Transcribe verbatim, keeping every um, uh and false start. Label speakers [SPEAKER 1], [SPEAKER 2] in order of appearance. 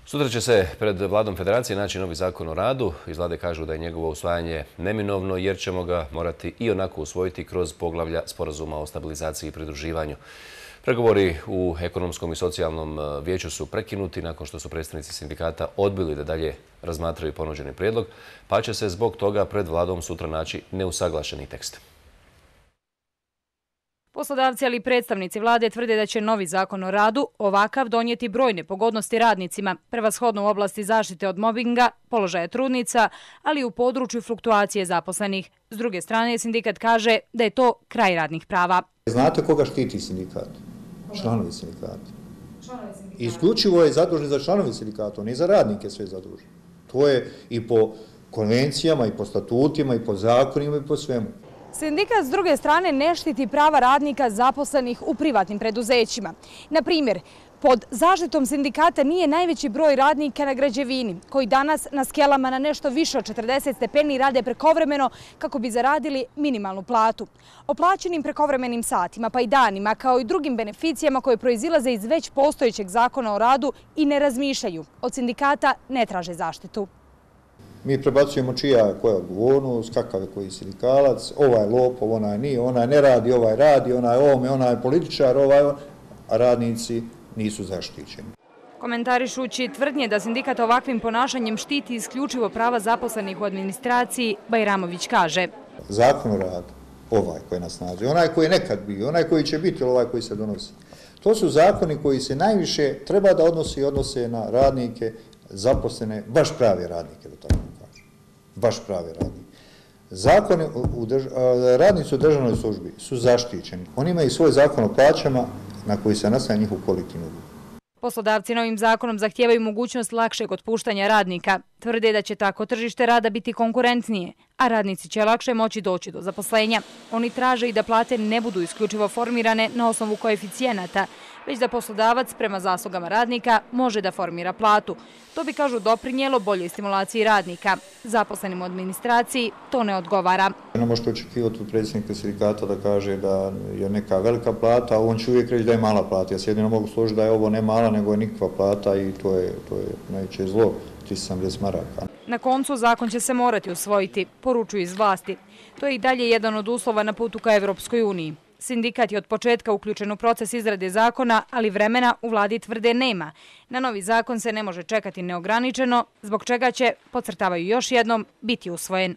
[SPEAKER 1] Sutra će se pred Vladom Federacije naći novi zakon o radu. Iz Vlade kažu da je njegovo usvajanje neminovno jer ćemo ga morati i onako usvojiti kroz poglavlja Sporazuma o stabilizaciji i pridruživanju. Pregovori u ekonomskom i socijalnom vijeću su prekinuti nakon što su predstavnici sindikata odbili da dalje razmatraju ponuđeni prijedlog, pa će se zbog toga pred Vladom sutra naći neusaglašeni tekst.
[SPEAKER 2] Poslodavci, ali i predstavnici vlade tvrde da će novi zakon o radu ovakav donijeti brojne pogodnosti radnicima, prevashodno u oblasti zaštite od mobinga, položaja trudnica, ali i u području fluktuacije zaposlenih. S druge strane, sindikat kaže da je to kraj radnih prava.
[SPEAKER 3] Znate koga štiti sindikat? Članovi sindikata. Isključivo je zadužen za članovi sindikata, ne za radnike sve zadužen. To je i po konvencijama, i po statutima, i po zakonima, i po svemu.
[SPEAKER 2] Sindikat s druge strane ne štiti prava radnika zaposlenih u privatnim preduzećima. Na primjer, pod zaštitom sindikata nije najveći broj radnika na građevini, koji danas na skelama na nešto više od četrdeset stepeni rade prekovremeno kako bi zaradili minimalnu platu. O plaćenim prekovremenim satima pa i danima, kao i drugim beneficijama koje proizilaze iz već postojećeg zakona o radu i ne razmišljaju. Od sindikata ne traže zaštitu.
[SPEAKER 3] Mi prebacujemo čija koja je odgovornost, kakav je koji sindikalac, ovaj lopov, onaj nije, onaj ne radi, ovaj radi, onaj ovome, onaj političar, ovaj, a radnici nisu zaštićeni.
[SPEAKER 2] Komentarišući tvrdnje da sindikat ovakvim ponašanjem štiti isključivo prava zaposlenih u administraciji, Bajramović kaže:
[SPEAKER 3] Zakon o radu, ovaj koji nas snazi, onaj koji je nekad bio, onaj koji će biti ili ovaj koji se donosi, to su zakoni koji se najviše treba da odnosi i odnose na radnike, zaposlene, baš pravi radnike, da tako kažem. Baš pravi radnike. Zakoni u drž... radnici u državnoj službi su zaštićeni. Oni imaju svoj zakon o plaćama na koji se nastaje njihov kolektivni ugovor.
[SPEAKER 2] Poslodavci novim zakonom zahtijevaju mogućnost lakšeg otpuštanja radnika. Tvrde da će tako tržište rada biti konkurentnije, a radnici će lakše moći doći do zaposlenja. Oni traže i da plate ne budu isključivo formirane na osnovu koeficijenata, već da poslodavac prema zaslugama radnika može da formira platu. To bi, kažu, doprinijelo boljoj stimulaciji radnika. Zaposlenim u administraciji to ne odgovara.
[SPEAKER 3] Ne možete očekivati od predsjednika sindikata da kaže da je neka velika plata, a on će uvijek reći da je mala plata. Ja se jedino mogu složiti da je ovo ne mala, nego je nikakva plata i to je, to je najveće zlo, tristo sedamdeset maraka.
[SPEAKER 2] Na koncu zakon će se morati usvojiti, poručuju iz vlasti. To je i dalje jedan od uslova na putu ka Evropskoj uniji. Sindikat je od početka uključen u proces izrade zakona, ali vremena u vladi tvrde nema. Na novi zakon se ne može čekati neograničeno, zbog čega će, podcrtavaju još jednom, biti usvojen.